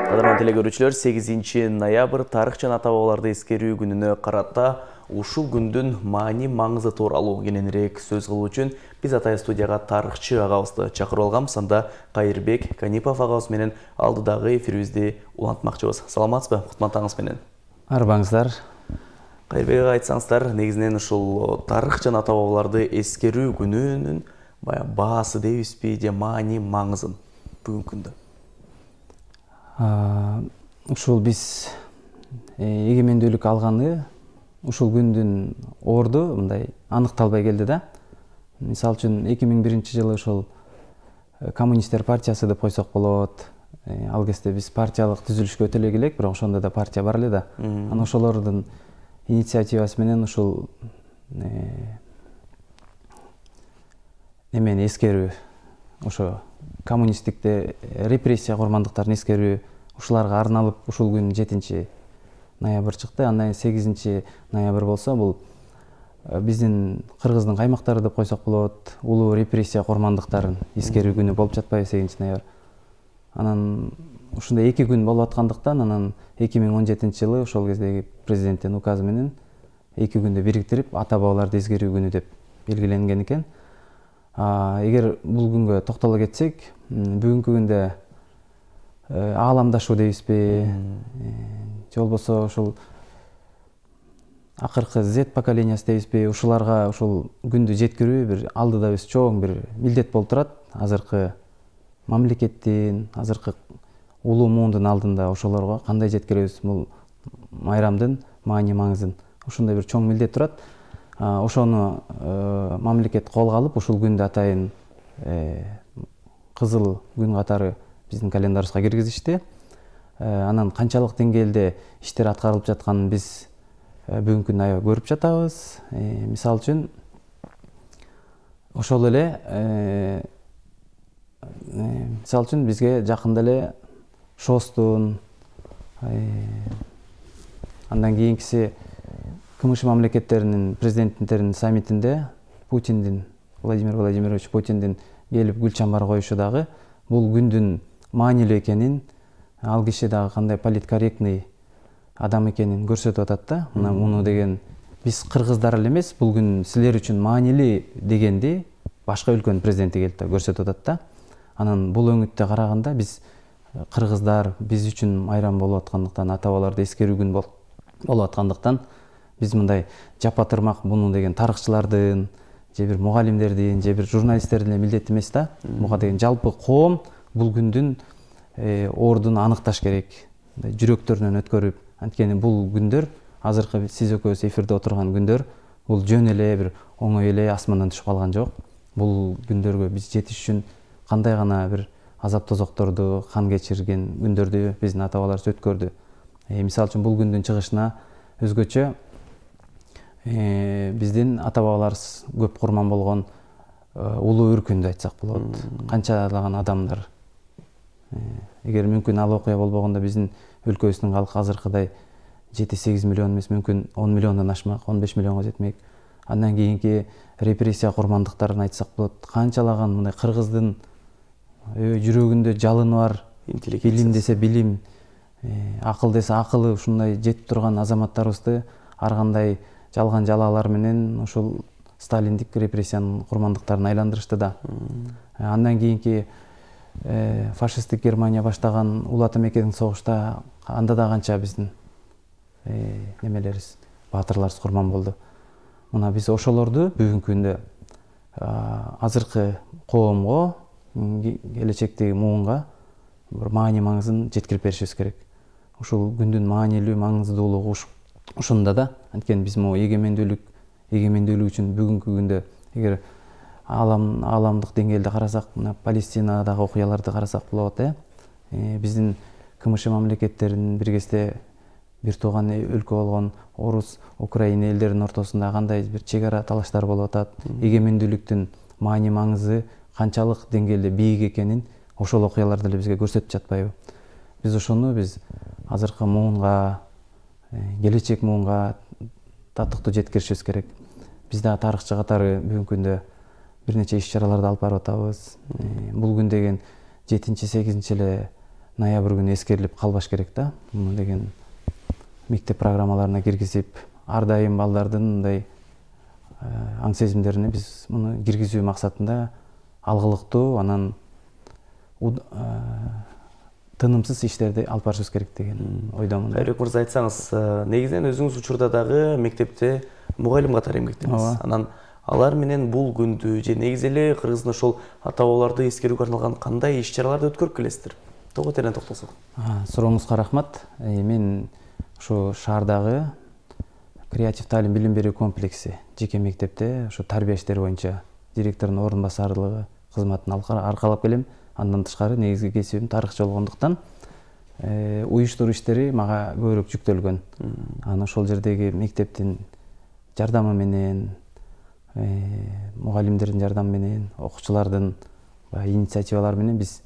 Кадырман телекөрүүчүлөр, 8 ноябрь тарых жана ата бабаларды эскерүү күнүнө карата ушул күндүн маани маңызы тууралуу кененирээк сөз кылуу үчүн биз Атайын студияга тарыхчы агабызды чакырып алганбыз. Анда Кайырбек Канипов агабыз менен алдыдагы эфирибизди улантмакчыбыз. Саламатсызбы? Кутман таңыңыз менен. Арбаңыздар. Кайырбек ага айтсаңыздар, негизинен ушул тарых жана ата бабаларды эскерүү күнүнүн баасы дейбизби, же маани маңызын бүгүнкү күндө? Ушул биз эгемендүүлүк алганы ушул күндүн орду мындай аныкталбай келди да. Мисалы үчүн 2001-жылы ушул коммунисттер партиясы деп койсок болот. Ал кезде биз партиялык түзүлүшкө өтө эле элек, бирок ошондо да партия бар эле да. Анан ошолордун инициативасы менен ушул эмени эскерүү, ошо коммунисттикте репрессия курмандыктарын эскерүү, ушуларга арналып ушул күн 7 ноябрь чыкты. Андан 8 ноябрь болсо бул биздин кыргыздын каймактары деп койсок болот, улуу репрессия курмандыктарын эскерүү күнү болуп жатпайбы 8 ноябрь. Анан ушундай 2 күн болуп аткандыктан анан 2017-жылы ошол кездеги президенттин указы менен 2 күндү бириктирип ата бабаларды эскерүү күнү деп белгиленген экен. Эгер бул күнгө токтоло кетсек, бүгүнкү күндө ааламдашуу дейбизби, же болбосо ушул акыркы Z поколениясы дейбизби, ушуларга ушул күндү жеткирүү бир алдыда биз чоң бир милдет болуп турат. Азыркы мамлекеттин, азыркы улуу муундун алдында ошолорго кандай жеткиребиз бул майрамдын маани маңызын. Ушундай бир чоң милдет турат. Ошону мамлекет колго алып, ушул күндү атайын кызыл күн катары биздин календарыбызга киргизишти. Анан канчалык деңгээлде иштер аткарылып жатканын биз бүгүнкү күндө аябай көрүп жатабыз. Мисалы үчүн ошол эле бизге жакында эле ШОСтун, андан кийинкиси КМШ мамлекеттеринин президенттеринин саммитинде Владимир Владимирович Путиндин келип гүл чамбар коюшу дагы бул күндүн маанилүү экенин, ал киши дагы кандай политкорректный адам экенин көрсөтүп атат да. Муну деген биз кыргыздар эле эмес, бул күн силер үчүн маанилүү дегенди башка өлкөнүн президенти келип көрсөтүп атат да. Анан бул өңүттө караганда биз кыргыздар, биз үчүн майрам болуп аткандыктан, ата бабаларды эскерүү күн болуп аткандыктан биз мындай жапа-тырмак буну деген тарыхчылардын, же бир мугалимдердин, же бир журналисттердин милдети эмес да. Буга деген жалпы коом бул күндүн ордун аныкташ керек, жүрөктөрүнөн өткөрүп. Анткени бул күндөр, азыркы сиз экөөбүз эфирде отурган күндөр, бул жөн эле бир оңой эле асмандан түшүп калган жок. Бул күндөргө биз жетиш үчүн кандай гана бир азап тозокторду, кан кечирген күндөрдү биздин ата бабаларыбыз өткөрдү. Мисалы үчүн бул күндүн чыгышына өзгөчө биздин ата бабаларыбыз көп курман болгон улуу үркүндү айтсак болот. Канчалаган адамдар. Эгер мүмкүн ал окуя болбогондо биздин өлкөбүздүн калкы азыркыдай 7-8 миллион эмес, мүмкүн 10 миллиондон ашмак, 15 миллионго жетмек. Андан кийинки репрессия курмандыктарын айтсак болот. Канчалаган мындай кыргыздын жүрөгүндө жалыны бар, билим десе билим, акыл десе акылы ушундай жетип турган азаматтарыбызды ар кандай жалган жалаалар менен ушул сталиндик репрессиянын курмандыктарын айландырышты да. Андан кийинки фашисттик Германия баштаган Улуу Ата Мекенин согушта анда да канча биздин немелерибиз, баатырларыбыз курман болду. Мына биз ошолорду бүгүнкү күндө азыркы коомго, келечектеги муунга бир маани маңызын жеткирип беришибиз керек. Ушул күндүн маанилүү, маңыздуулугу ушунда да. Анткени биз могу эгемендүүлүк үчүн бүгүнкү күндө эгер ааламдык деңгээлде карасак, мына Палестинадагы окуяларды карасак болот, биздин КМШ мамлекеттеринин бир кезде бир тууган өлкө болгон орус, Украина элдеринин ортосунда кандай бир чек ара талаштар болуп атат. Эгемендүүлүктүн маани маңызы канчалык деңгээлде бийик экенин ошол окуялар деле бизге көрсөтүп жатпайбы? Биз ошону азыркы муунга, келечек муунга татыктуу жеткиришибиз керек. Биз да тарыхчы катары бүгүнкү күндө бир нече иш-чараларды алып барып атабыз. Бул күн деген 7-8 эле ноябрь күнү эскерилип калбаш керек да. Муну деген мектеп программаларына киргизип, ар дайым балдардын мындай аң сезимдерине биз муну киргизүү максатында алгылыктуу, анан тынымсыз иштерди алып барышыбыз керек деген ойдомун. Кайрыбек мырза, айтсаңыз, негизинен өзүңүз учурда дагы мектепте мугалим катары эмгектедиңиз. Анан алар менен бул күндү же негизи эле кыргыздын ошол ата бабаларды эскерүүгө арналган кандай иш-чараларды өткөрүп келесиздер? Того терен токтолсок. Сурооңузга рахмат. Мен ушу шаардагы креатив таалим билим берүү комплекси жеке мектепте ушу тарбия иштери боюнча директордун орун басарлыгы кызматын аркалап келем. Андан тышкары негизги кесибим тарыхчы болгондуктан уюштуруу иштери мага көбүрөөк жүктөлгөн. Анан ошол жердеги мектептин жардамы менен, мугалимдердин жардамы менен, окуучулардын инициативалары менен биз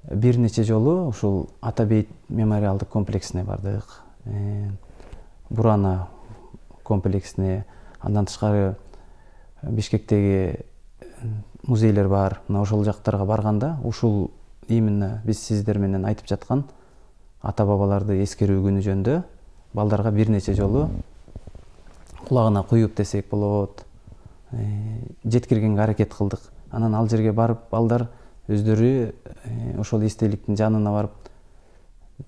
бир нече жолу ушул Ата Бейит мемориалдык комплексине бардык. Бурана комплексине, андан тышкары Бишкектеги музейлер бар. Мына ошол жактарга барганда ушул именно биз сиздер менен айтып жаткан ата бабаларды эскерүү күнү жөнүндө балдарга бир нече жолу кулагына куюп десек болот, жеткиргенге аракет кылдык. Анан ал жерге барып балдар өздөрү ошол эстеликтин жанына барып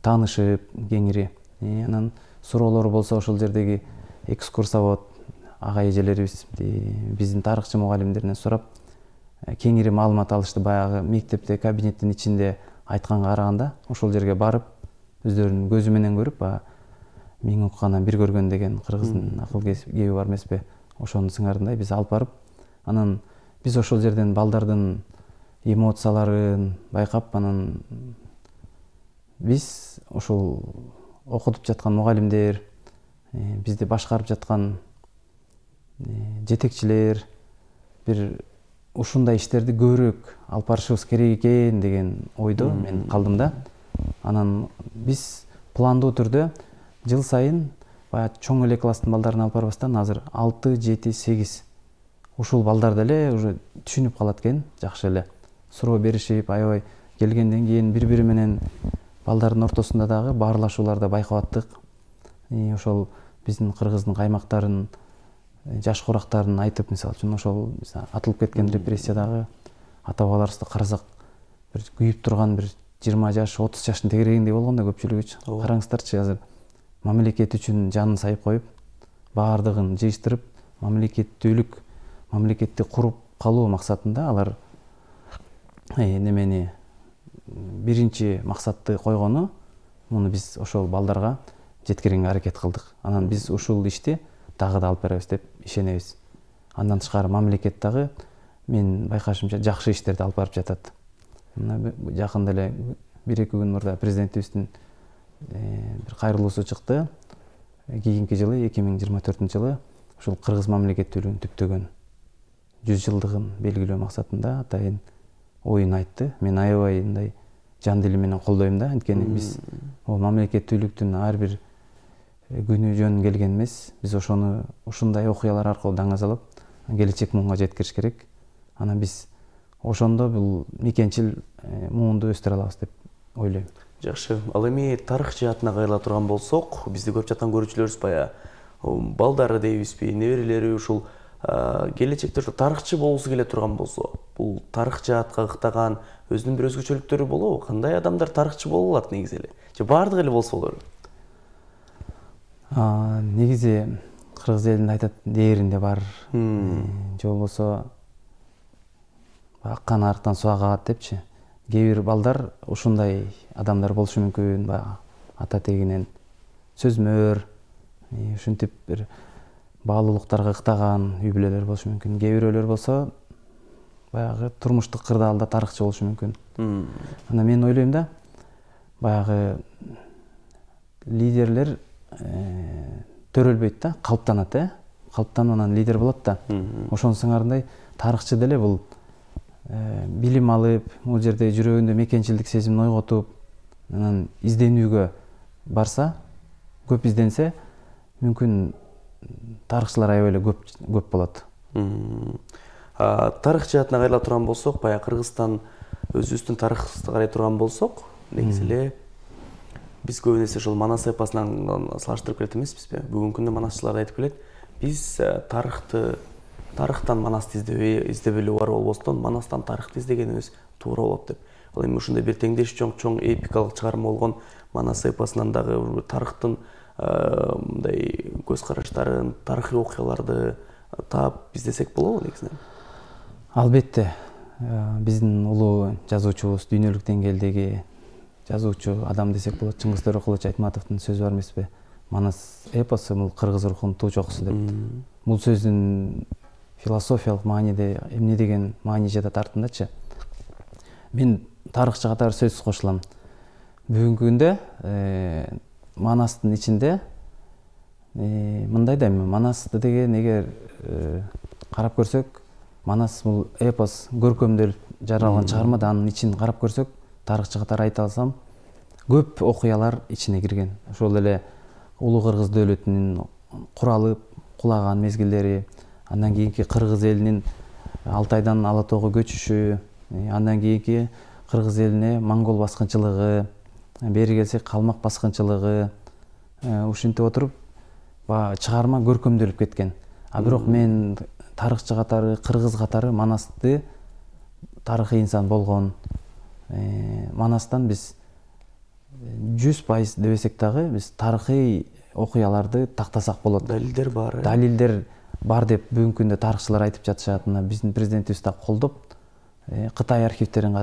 таанышып кеңири. Анан суроолору болсо ошол жердеги экскурсовод ага эжелерибиз биздин тарыхчы мугалимдеринен сурап кеңири маалымат алышты. Баягы мектепте кабинеттин ичинде айтканга караганда ошол жерге барып өздөрүнүн көзү менен көрүп, миң уккандан бир көргөн деген кыргыздын акыл кеби бар эмеспи? Ошонун сыңарындай биз алып барып, анан биз ошол жерден балдардын эмоцияларын байкап, анан биз ошол окутуп жаткан мугалимдер, бизди башкарып жаткан жетекчилер бир ушундай иштерди көбүрөөк алып барышыбыз керек экен деген ойдо мен калдым да. Анан биз пландуу түрдө жыл сайын баягы чоң эле класстын балдарын алып барбастан азыр 6, 7, 8 ушул балдар деле уже түшүнүп калат экен, жакшы эле суроо беришип, аябай келгенден кийин бири-бири менен балдардын ортосунда дагы баарлашууларды байкап аттык. Ошол биздин кыргыздын каймактарын, жаш курактарын айтып, мисалы үчүн ошол атылып кеткен репрессиядагы ата бабаларыбызды карасак, бир күйүп турган бир 20 жаш, 30 жаштын тегерегиндей болгон да көпчүлүгүчү. Караңыздарчы, азыр мамлекет үчүн жанын сайып коюп, баардыгын жыйыштырып, мамлекеттүүлүк, мамлекетти куруп калуу максатында алар немени биринчи максатты койгону, муну биз ошол балдарга жеткиргенге аракет кылдык. Анан биз ушул ишти дагы да алып барабыз деп ишенебиз. Андан тышкары мамлекет дагы мен байкашымча жакшы иштерди алып барып жатат. Мына жакында эле 1-2 күн мурда президентибиздин бир кайрылуусу чыкты. Кийинки жылы 2024-жылы ушул кыргыз мамлекеттүүлүгүн түптөгөн 100 жылдыгын белгилөө максатында атайын оюн айтты. Мен аябай мындай жан дили менен колдойм да, анткени биз бул мамлекеттүүлүктүн ар бир күнү жөн келген эмес. Биз ошону ушундай окуялар аркылуу даңазалап, келечек муунга жеткириш керек. Анан биз ошондо бул мекенчил муунду өстүрө алабыз деп ойлойм. Жакшы. Ал эми тарых жаатына кайрыла турган болсок, бизди көрүп жаткан көрүүчүлөрүбүз баягы балдары дейбизби, неберелери ушул келечекте ушу тарыхчы болгусу келе турган болсо, бул тарых жаатка ыктаган өзүнүн бир өзгөчөлүктөрү болобу? Кандай адамдар тарыхчы боло алат негизи эле? Же баардыгы эле болсо болорбу? Негизи кыргыз элинде айтат, дээринде бар. Же болбосо аккан арыктан суу агат депчи. Кээ бир балдар ушундай адамдар болушу мүмкүн, баягы ата тегинен сөзмөр, ушинтип бир баалуулуктарга ыктаган үй бүлөлөр болушу мүмкүн. Кээ бирөөлөр болсо баягы турмуштук кырдаалда тарыхчы болушу мүмкүн. Анан мен ойлойм да, баягы лидерлер төрөлбөйт да, калыптанат, калыптанып анан лидер болот да. Ошонун сыңарындай тарыхчы деле бул билим алып, бул жерде жүрөгүндө мекенчилдик сезимин ойготуп, анан изденүүгө барса, көп изденсе, мүмкүн тарыхчылар аябай эле көп болот. тарых жаатына кайрыла турган болсок, баягы Кыргызстан өзүбүздүн тарыхыбызды карай турган болсок, негизи эле биз көбүн эсе ошол Манас эпосунан салыштырып келет эмеспизби? Бүгүнкү күндө манасчылар айтып келет, биз тарыхтан Манасты издебелүү бар болбостон, Манастан тарыхты издегенибиз туура болот деп. Ал эми ушундай бир теңдеш чоң эпикалык чыгарма болгон Манас эпосунан дагы тарыхтын мындай көз караштарын, тарыхый окуяларды таап издесек болобу негизинен? Албетте, биздин улуу жазуучубуз, дүйнөлүк деңгээлдеги жазуучу адам десек болот, Чыңгыз Төрөкулович Айтматовдун сөзү бар эмеспи? Манас эпосу бул кыргыз рухунун туу чокусу деп. Бул сөздүн философиялык мааниде эмне деген маани жатат артындачы? Мен тарыхчы катары сөзсүз кошулам. Бүгүнкү күндө Манастын ичинде мындай да эми Манасты деген эгер карап көрсөк, Манас бул эпос көркөмдөлүп жаралган чыгарма да, анын ичин карап көрсөк, тарыхчы катары айта алсам, көп окуялар ичине кирген. Ошол эле Улуу Кыргыз дөөлөтүнүн куралып кулаган мезгилдери, андан кийинки кыргыз элинин Алтайдан Ала тоого көчүшү, андан кийинки кыргыз элине монгол баскынчылыгы, бери келсек калмак баскынчылыгы, ушинтип отуруп чыгарма көркөмдөлүп кеткен. А бирок мен тарыхчы катары, кыргыз катары Манасты тарыхый инсан болгон, Манастан биз 100% дебесек дагы биз тарыхый окуяларды тактасак болот. Далилдер бар. Далилдер бар деп бүгүнкү күндө тарыхчылар айтып жатышат. Мына биздин президентибиз да колдоп, Кытай архивтерин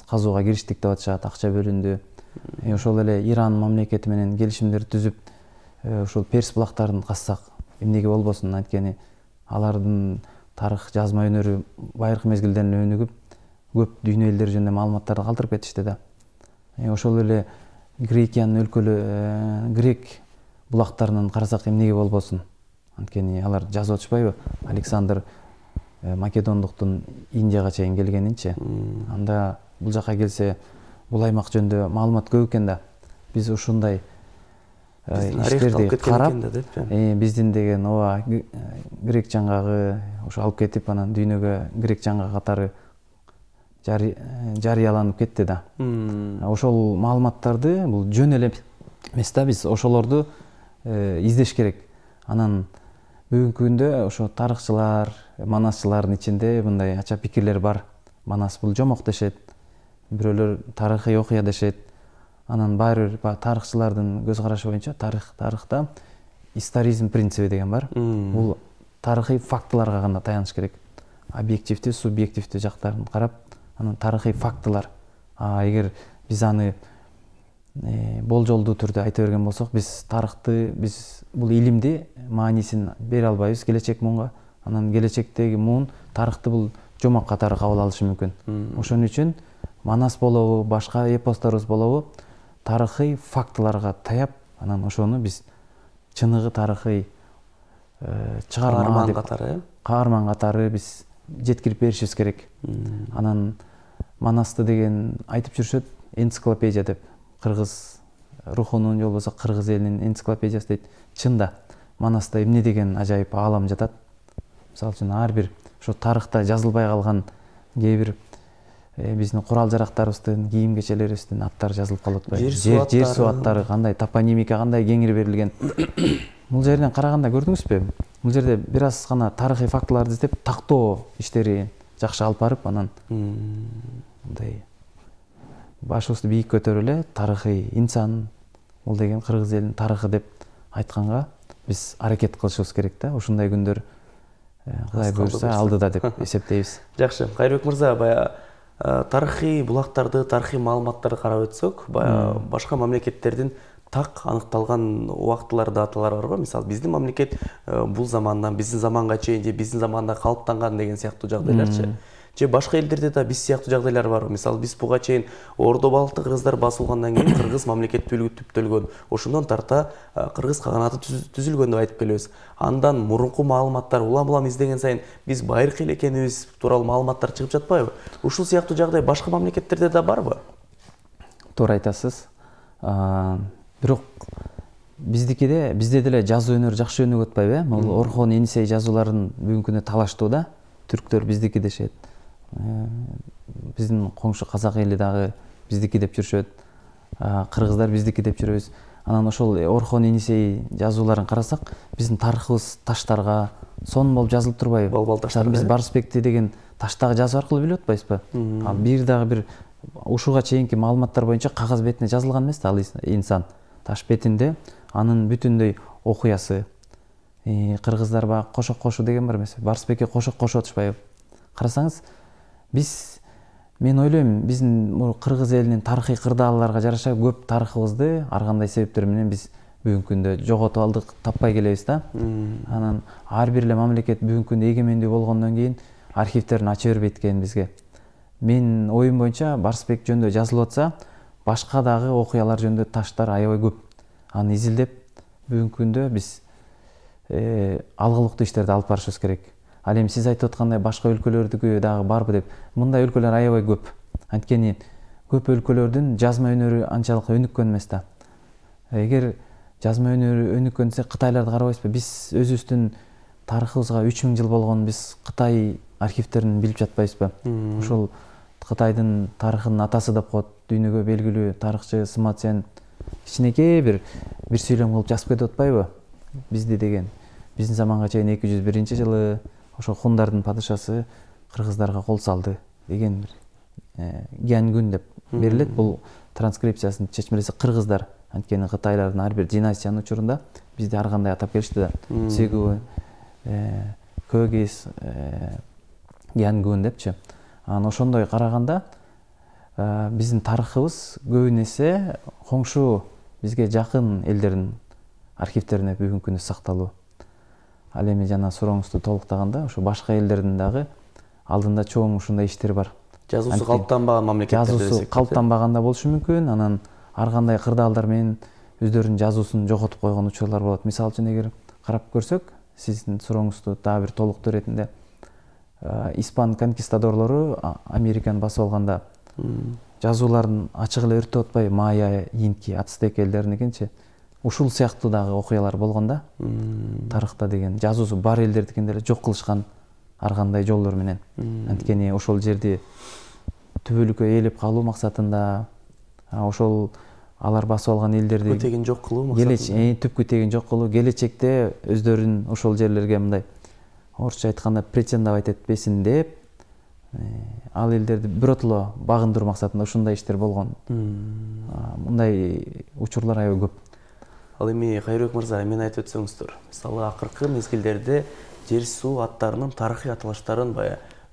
казууга кириштик деп атышат, акча бөлүндү. Ошол эле Иран мамлекети менен келишимдер түзүп, ошол Перс булактарын казсак эмнеге болбосун, анткени алардын тарых жазма өнөрү байыркы мезгилден өнүгүп, көп дүйнө элдери жөнүндө маалыматтарды калтырып кетишти да. Ошол эле Грекиянын грек булактарынан карасак эмнеге болбосун, анткени алар жазып атышпайбы? Александр Македондуктун Индияга чейин келгенинчи. Анда бул жака келсе, бул аймак жөнүндө маалымат көп экен да. Биз ушундай иштерди карап, биздин деген ооба грек жаңгагы ошо алып кетип, анан дүйнөгө грек жаңгак катары жарыяланып кетти да. Ошол маалыматтарды бул жөн эле эмес да, биз ошолорду издеш керек. Анан бүгүнкү күндө ошо тарыхчылар, манасчылардын ичинде мындай ача пикирлер бар. Манас бул жомок дешет, бирөөлөр тарыхый окуя дешет. Анан баары бир тарыхчылардын көз карашы боюнча тарыхта историзм принциби деген бар. Бул тарыхый фактыларга гана таяныш керек. Объективдүү, субъективдүү жактарын карап, анан тарыхый фактылар. Эгер биз аны болжолдуу түрдө айта берген болсок, биз тарыхты, биз бул илимди маанисин бере албайбыз келечек муунга. Анан келечектеги муун тарыхты бул жомок катары кабыл алышы мүмкүн. Ошон үчүн Манас болобу, башка эпосторубуз болобу, тарыхый фактыларга таяп, анан ошону биз чыныгы тарыхый чыгарма деп каарман катары биз жеткирип беришибиз керек. Анан Манасты деген айтып жүрүшөт энциклопедия деп, кыргыз рухунун же болбосо кыргыз элинин энциклопедиясы дейт. Чында Манаста эмне деген ажайып аалам жатат. Мисалы үчүн ар бир ошо тарыхта жазылбай калган кээ бир биздин курал жарактарыбыздын, кийим кечелерибиздин аттары жазылып калып атпайбы? Жер суу аттары кандай, топонимика кандай кеңири берилген. Бул жерден караганда көрдүңүзбү? Бул жерде бир аз гана тарыхый фактыларды издеп, тактоо иштери жакшы алып барып, анан мындай башыбызды бийик көтөрүп эле тарыхый инсан, бул деген кыргыз элинин тарыхы деп айтканга биз аракет кылышыбыз керек да. Ушундай күндөр Кудай буйрса алдыда деп эсептейбиз. Жакшы, Кайрыбек мырза, баягы тарыхый булактарды, тарыхый маалыматтарды карап өтсөк, башка мамлекеттердин так аныкталган убактылар, даталар барбы? Мисалы, биздин мамлекет бул замандан биздин заманга чейин же биздин заманда калыптанган деген сыяктуу жагдайларчы. Же башка элдерде да биз сыяктуу жагдайлар барбы? Мисалы, биз буга чейин Ордо балыкты кыргыздар басылгандан кийин кыргыз мамлекеттүүлүгү түптөлгөн, ошондон тарта кыргыз каганаты түзүлгөн деп айтып келебиз. Андан мурунку маалыматтар улам издеген сайын биз байыркы эле экенибиз тууралуу маалыматтар чыгып жатпайбы? Ушул сыяктуу жагдай башка мамлекеттерде да барбы? Туура айтасыз. Бирок bizde деле жазуу өнөр жакшы өнүгүп атпайбы? Бул Орхон Енисей жазууларын бүгүнкү күндө талаштуу да. түрктөр биздики дешет, биздин коңшу казак эли дагы биздики деп жүрүшөт, кыргыздар биздики деп жүрөбүз. Анан ошол Орхон Енисей жазууларын карасак, биздин тарыхыбыз таштарга сонун болуп жазылып турбайбы? Балбал таштар. Биз Барысбекти деген таштагы жазуу аркылуу билип атпайбызбы? Ал бир ушуга чейинки маалыматтар боюнча кагаз бетине жазылган эмес да ал инсан. Таш бетинде анын бүтүндөй окуясы. Кыргыздар баягы кошок кошу деген бар эмеспи? Барысбекке кошок кошуп атышпайбы? Карасаңыз, мен ойлойм, биздин кыргыз элинин тарыхый кырдаалларга жараша көп тарыхыбызды ар кандай себептер менен биз бүгүнкү күндө жоготуп алдык, таппай келебиз да. Анан ар бир эле мамлекет бүгүнкү күндө эгемендүү болгондон кийин архивтерин ача бербейт экен бизге. Мен оюм боюнча Барысбек жөнүндө жазылып атса, башка дагы окуялар жөнүндө таштар аябай көп. Аны изилдеп бүгүнкү күндө биз алгылыктуу иштерди алып барышыбыз керек. Ал эми сиз айтып аткандай башка өлкөлөрдүкү дагы барбы деп, мындай өлкөлөр аябай көп. Анткени көп өлкөлөрдүн жазма өнөрү анчалык өнүккөн эмес да. Эгер жазма өнөрү өнүккөнсө Кытайларды карабайсызбы? Биз өзүбүздүн тарыхыбызга 3000 жыл болгон биз Кытай архивтерин билип жатпайбызбы? Ошол Кытайдын тарыхынын атасы деп коет, дүйнөгө белгилүү тарыхчы Сыма Цзянь кичинекей бир сүйлөм кылып жазып кетип атпайбы? Бизди деген биздин заманга чейин 201-жылы ошо хундардын падышасы кыргыздарга кол салды деген Гянгүн деп берилет. Бул транскрипциясынын чечмелеси кыргыздар. Анткени Кытайлардын ар бир династиянын учурунда бизди ар кандай атап келишти да. Цигу, Көгис, Гянгүн депчи. Анан ошондой караганда биздин тарыхыбыз көбүн эсе коңшу бизге жакын элдердин архивтерине бүгүнкү күндө сакталуу. Ал эми жана сурооңузду толуктаганда, ошо башка элдердин дагы алдында чоң ушундай иштер бар. Жазуусу калыптанбаган мамлекеттерде десек. Жазуусу калыптанбаганда болушу мүмкүн, анан ар кандай кырдаалдар менен өздөрүнүн жазуусун жоготуп койгон учурлар болот. Мисалы үчүн эгер карап көрсөк, сиздин сурооңузду дагы бир толуктоо иретинде, испан конкистадорлору Американы басып алганда жазууларын ачык эле өртөп атпайбы? Майя, инки, ацтек элдериникинчи. Ушул сыяктуу дагы окуялар болгон да. Тарыхта деген жазуусу бар элдердикин деле жок кылышкан ар кандай жолдор менен. Анткени ошол жерди түбөлүккө ээлеп калуу максатында, ошол алар басып алган элдерди тегин жок кылуу максатында, түпкү тегин жок кылуу, келечекте өздөрүн ошол жерлерге мындай орусча айтканда претендовать этпесин деп, ал элдерди биротоло багындыруу максатында ушундай иштер болгон. Мындай учурлар аябай көп. Ал эми Кайрыбек мырза, мен айтып өтсөңүздөр, мисалы акыркы мезгилдерде жер суу аттарынын тарыхый аталыштарын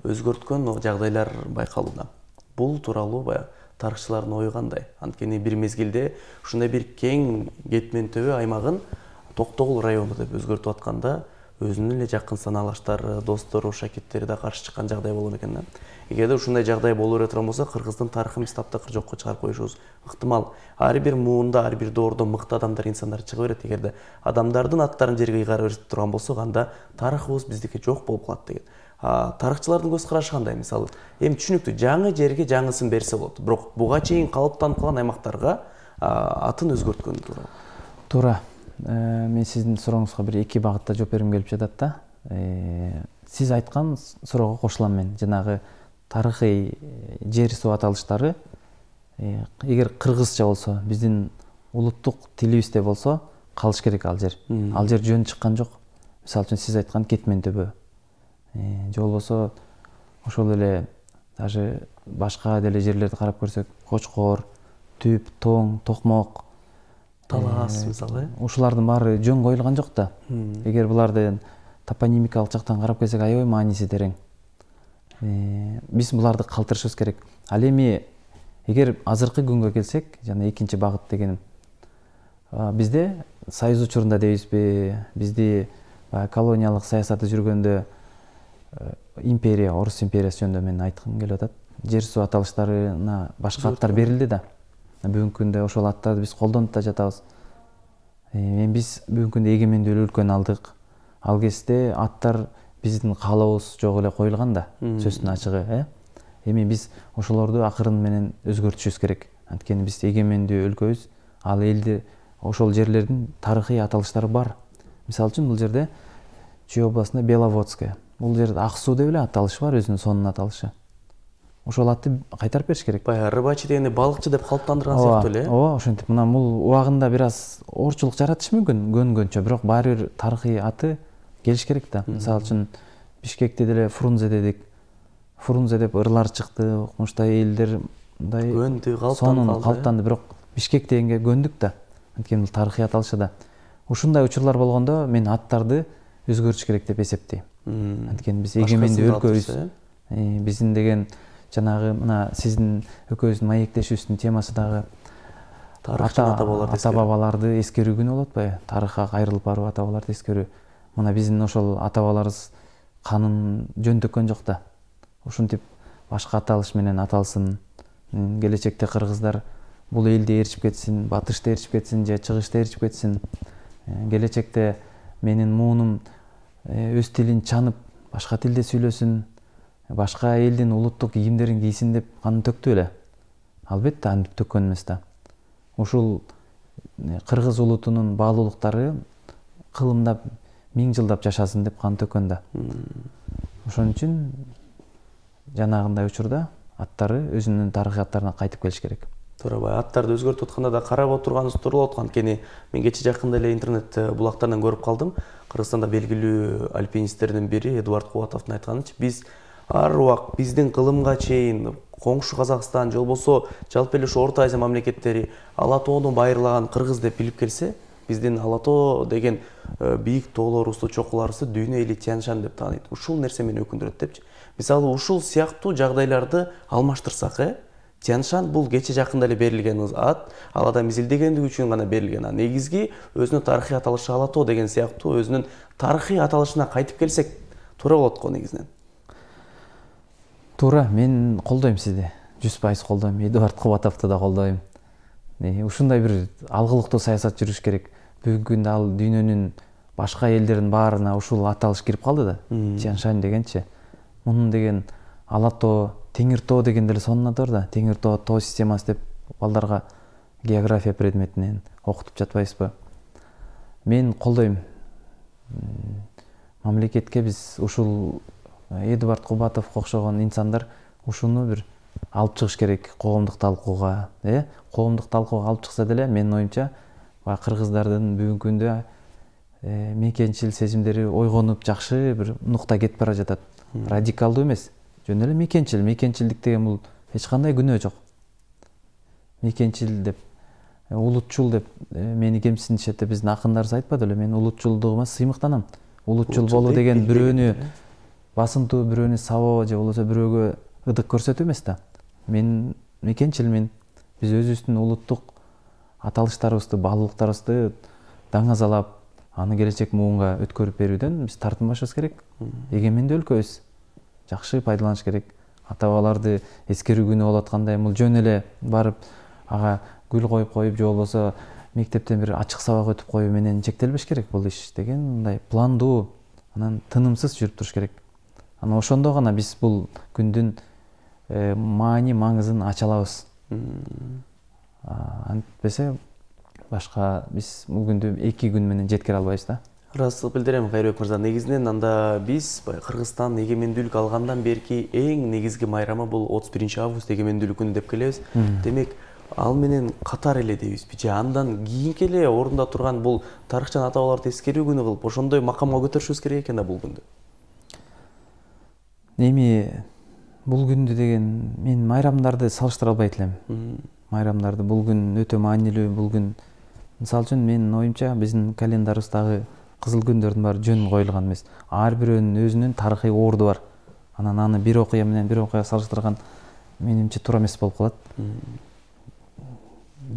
өзгөрткөн жагдайлар байкалууда. Бул тууралуу тарыхчылардын ою кандай? Анткени бир мезгилде ушундай бир кең кетмен төбө аймагын Токтогул району деп өзгөртүп атканда, өзүнүн эле жакын санаалаштары, достору, шакирттери да каршы чыккан жагдай болгон экен да. Эгерде ушундай жагдай боло бере турган болсо, кыргыздын тарыхын биз таптакыр жокко чыгарып коюшубуз ыктымал. Ар бир муунда, ар бир доордо мыкты адамдар, инсандар чыга берет. Эгерде адамдардын аттарын жерге ыйгарып берип турган болсок, анда тарыхыбыз биздики жок болуп калат деген. Тарыхчылардын көз карашы кандай? Мисалы, эми түшүнүктүү, жаңы жерге жаңысын берсе болот. Бирок буга чейин калыптанып калган аймактарга атын өзгөрткөн туура. Туура. Мен сиздин сурооңузга бир эки багытта жооп бергим келип жатат да. Сиз айткан суроого кошулам мен. Жанагы тарыхый жер суу аталыштары эгер кыргызча болсо, биздин улуттук тилибизде болсо, калыш керек ал жер. Ал жер жөн чыккан жок. Мисалы үчүн сиз айткан кетмен төбө. Же болбосо ошол эле даже башка деле жерлерди карап көрсөк, Кочкор, Түп, Тоң, Токмок, Талас мисалы, ушулардын баары жөн коюлган жок да. Эгер буларды топонимикалык жактан карап келсек, аябай мааниси терең. Биз буларды калтырышыбыз керек. Ал эми эгер азыркы күнгө келсек, жана экинчи багыт дегеним, бизде Союз учурунда дейбизби, бизди колониялык саясаты жүргөндө империя, Орус империясы жөнүндө мен айткым келип атат. Жер суу аталыштарына башка аттар берилди да. Бүгүнкү күндө ошол аттарды биз колдонуп да жатабыз. Биз бүгүнкү күндө эгемендүү өлкөнү алдык. Ал кезде аттар биздин каалообуз жок эле коюлган да, сөздүн ачыгы. Эми биз ошолорду акырын менен өзгөртүшүбүз керек. Анткени биз эгемендүү өлкөбүз, ал элди ошол жерлердин тарыхый аталыштары бар. Мисалы үчүн бул жерде Чүй областында Беловодская, бул жерде ак суу деп эле аталышы бар, өзүнүн сонун аталышы. Ошол атты кайтарып бериш керек. Баягы рыбачы дегенде балыкчы деп калыптандырган сыяктуу эле. Ооба, ошентип мына бул убагында бир аз оорчулук жаратышы мүмкүн көнгөнчө, бирок баары бир тарыхый аты келиш керек да. Мисалы үчүн Бишкекте деле Фрунзе дедик. Фрунзе деп ырлар чыкты, укмуштай элдер мындай көндү, калыптанды, бирок Бишкек дегенге көндүк да. Анткени бул тарыхый аталышы да. Ушундай учурлар болгондо мен аттарды өзгөртүш керек деп эсептейм. Анткени биз эгемендүү өлкөбүз. Биздин деген жанагы мына сиздин экөөбүздүн маектешүүбүздүн темасы дагы ата бабаларды эскерүү күнү болуп атпайбы? Тарыхка кайрылып барып ата бабаларды эскерүү. Мына биздин ошол ата бабаларыбыз канын жөн төккөн жок да. Ушинтип башка аталыш менен аталсын. Келечекте кыргыздар бул элди ээрчип кетсин, батышты ээрчип кетсин же чыгышты ээрчип кетсин. Келечекте менин муунум өз тилин чанып, башка тилде сүйлөсүн, башка элдин улуттук кийимдерин кийсин деп канын төктү эле. Албетте антип төккөн эмес да. Ушул кыргыз улутунун баалуулуктары кылымдап, миң жылдап жашасын деп кан төккөн да. Ошон үчүн жанагындай учурда аттары өзүнүн тарыхый аттарына кайтып келиш керек. Туура, аттарды өзгөртүп атканда да карап отурганыбыз туура болот. Анткени мен кечээ жакында эле интернет булактарынан көрүп калдым. Кыргызстанда белгилүү альпинисттердин бири Эдуард Кубатовдун айтканыча, биз ар убак биздин кылымга чейин коңшу Казакстан же болбосо жалпы эле ушу Орто Азия мамлекеттери Ала тоону байырлаган кыргыз деп билип келсе, биздин Ала тоо деген бийик тоолорубузду, чокуларыбызды дүйнө эли Тянь-Шань деп тааныйт. Ушул нерсе мени өкүндүрөт депчи. Мисалы ушул сыяктуу жагдайларды алмаштырсак, Тянь-Шань бул кечээ жакында эле берилген ат, ал адам изилдегендиги үчүн гана берилген. Негизги өзүнүн тарыхый аталышы Ала тоо деген сыяктуу өзүнүн тарыхый аталышына кайтып келсек туура болот го негизинен. Туура, мен колдойм сизди. 100% колдойм. Эдуард Кубатовду да колдойм. Ушундай бир алгылыктуу саясат жүрүш керек. Бүгүнкү күндө ал дүйнөнүн башка элдеринин баарына ушул аталыш кирип калды да. Тянь-Шань дегенчи. Мунун деген Ала тоо, Теңир тоо деген деле сонун аты бар да. Теңир тоо системасы деп балдарга география предметинен окутуп жатпайбызбы? Мен колдойм. Мамлекетке биз ушул Эдуард Кубатовго окшогон инсандар ушуну бир алып чыгыш керек коомдук талкууга, коомдук талкууга алып чыкса деле менин оюмча кыргыздардын бүгүнкү күндө мекенчил сезимдери ойгонуп жакшы бир нукта кетип бара жатат. Радикалдуу эмес, жөн эле мекенчилдик деген бул эч кандай күнөө жок. Мекенчил деп, улутчул деп мени кемсинишет деп биздин акындарыбыз айтпады эле. Мен улутчулдугума сыймыктанам. Улутчул болуу деген бирөөнү басынтуу, бирөөнү сабоо же болбосо бирөөгө ыдык көрсөтүү эмес да. Мен мекенчилмин. Биз өзүбүздүн улуттук аталыштарыбызды, баалуулуктарыбызды даңазалап, аны келечек муунга өткөрүп берүүдөн биз тартынбашыбыз керек. Эгемендүү өлкөбүз. Жакшы пайдаланыш керек. Ата бабаларды эскерүү күнү болуп аткандай, бул жөн эле барып ага гүл коюп же болбосо мектептен бир ачык сабак өтүп коюу менен чектелбеш керек бул иш деген, мындай пландуу, анан тынымсыз жүрүп туруш керек. Анан ошондо гана биз бул күндүн маани маңызын ача алабыз. Антпесе башка биз бул күндү 2 күн менен жеткире албайбыз да. Ыраазычылык билдирем, Кайрыбек мырза. Негизинен анда биз Кыргызстан эгемендүүлүк алгандан берки эң негизги майрамы бул 31 август эгемендүүлүк күнү деп келебиз. Демек, ал менен катар эле дейбизби же андан кийинки эле орунда турган бул тарыхчан ата бабаларды эскерүү күнү кылып ошондой макамга көтөрүшүбүз керек экен да бул күндү. Эми бул күндү деген мен майрамдарды салыштыра албайт элем. Майрамдарды бул күн өтө маанилүү, бул күн мисалы үчүн менин оюмча биздин календарыбыздагы кызыл күндөрдүн баары жөн коюлган эмес. Ар бирөөнүн өзүнүн тарыхый орду бар. Анан аны бир окуя менен бир окуя салыштырган менимче туура эмес болуп калат.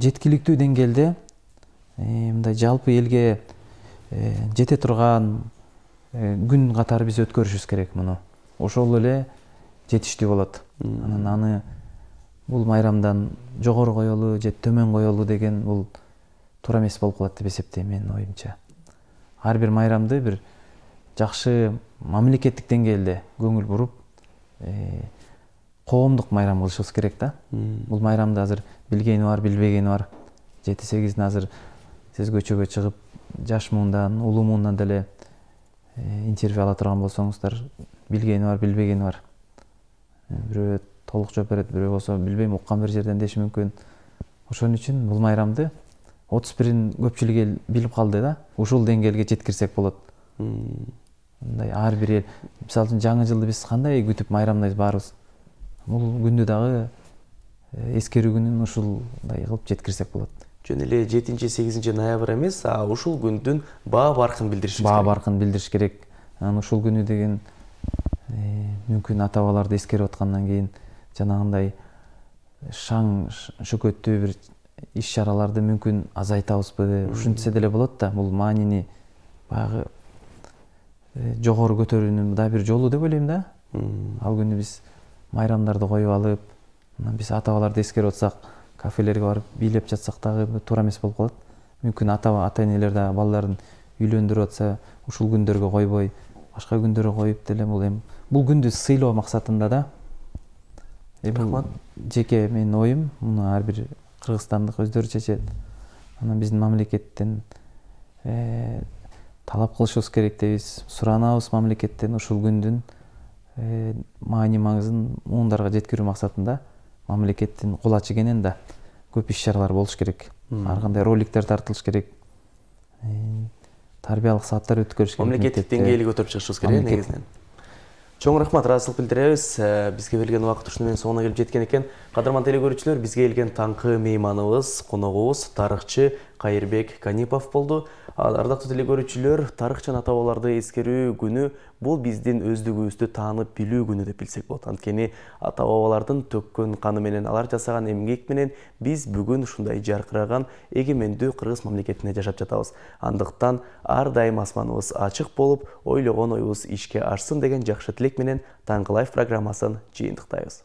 Жеткиликтүү деңгээлде мындай жалпы элге жете турган күн катары биз өткөрүшүбүз керек муну. Ошол эле жетиштүү болот. Анан аны бул майрамдан жогору коелу же төмөн коелу деген бул туура эмес болуп калат деп эсептейм менин оюмча. Ар бир майрамды бир жакшы мамлекеттик деңгээлде көңүл буруп, коомдук майрам кылышыбыз керек да. Бул майрамды азыр билгени бар, билбегени бар. 7-8 азыр сез көчөгө чыгып, жаш муундан, улуу муундан деле интервью ала турган болсоңуздар, билгени бар, билбегени бар. Бирөө толук жооп берет, бирөө болсо билбейм, уккан бир жерден деши мүмкүн. Ошон үчүн бул майрамды 31-ин көпчүлүк эл билип калды да, ушул деңгээлге жеткирсек болот. Мындай ар бир эл, мисалы үчүн жаңы жылды биз кандай күтүп майрамдайбыз баарыбыз. Бул күндү дагы эскерүү күнүн ушулдай кылып жеткирсек болот. Жөн эле 7-8 ноябрь эмес, ушул күндүн баа баркын билдиришибиз керек. Баа баркын билдириш керек. Анан ушул күнү деген мүмкүн ата бабаларды эскерип аткандан кийин жанагындай шаң шөкөттүү бир иш-чараларды мүмкүн азайтабызбы, ушинтсе деле болот да. Бул маанини баягы жогору көтөрүүнүн да бир жолу деп ойлойм да. Ал күнү биз майрамдарды коюп алып, анан биз ата бабаларды эскерип атсак, кафелерге барып бийлеп жатсак дагы туура эмес болуп калат. Мүмкүн ата-энелер да балдарын үйлөндүрүп атса, ушул күндөргө койбой, башка күндөргө коюп деле бул күндү сыйлоо максатында да. Бул жеке менин оюм, муну ар бир кыргызстандык өздөрү чечет. Анан биздин мамлекеттен талап кылышыбыз керек дейбиз, суранабыз мамлекеттен ушул күндүн маани маңызын муундарга жеткирүү максатында мамлекеттин кол ачы кенен да көп иш-чаралар болуш керек. Ар кандай роликтер тартылыш керек. Тарбиялык сааттар өткөрүш керек. Мамлекеттик деңгээлге көтөрүп чыгышыбыз керек негизинен. Чоң рахмат, ыраазычылык билдиребиз. Бизге берилген убакыт ушуну менен соңуна келип жеткен экен. Кадырман теле көрүүчүлөр, бизге келген таңкы мейманыбыз, коногубуз тарыхчы Кайырбек Канипов болду. Ардактуу теле көрүүчүлөр, тарыхчы ата бабаларды эскерүү күнү бул биздин өздүгүбүздү таанып билүү күнү деп билсек болот. Анткени ата бабалардын төккөн каны менен, алар жасаган эмгек менен биз бүгүн ушундай жаркыраган эгемендүү кыргыз мамлекетинде жашап жатабыз. Андыктан ар дайым асманыбыз ачык болуп, ойлогон оюбуз ишке ашсын деген жакшы тилек менен Таңкы Лайф программасын жыйынтыктайбыз.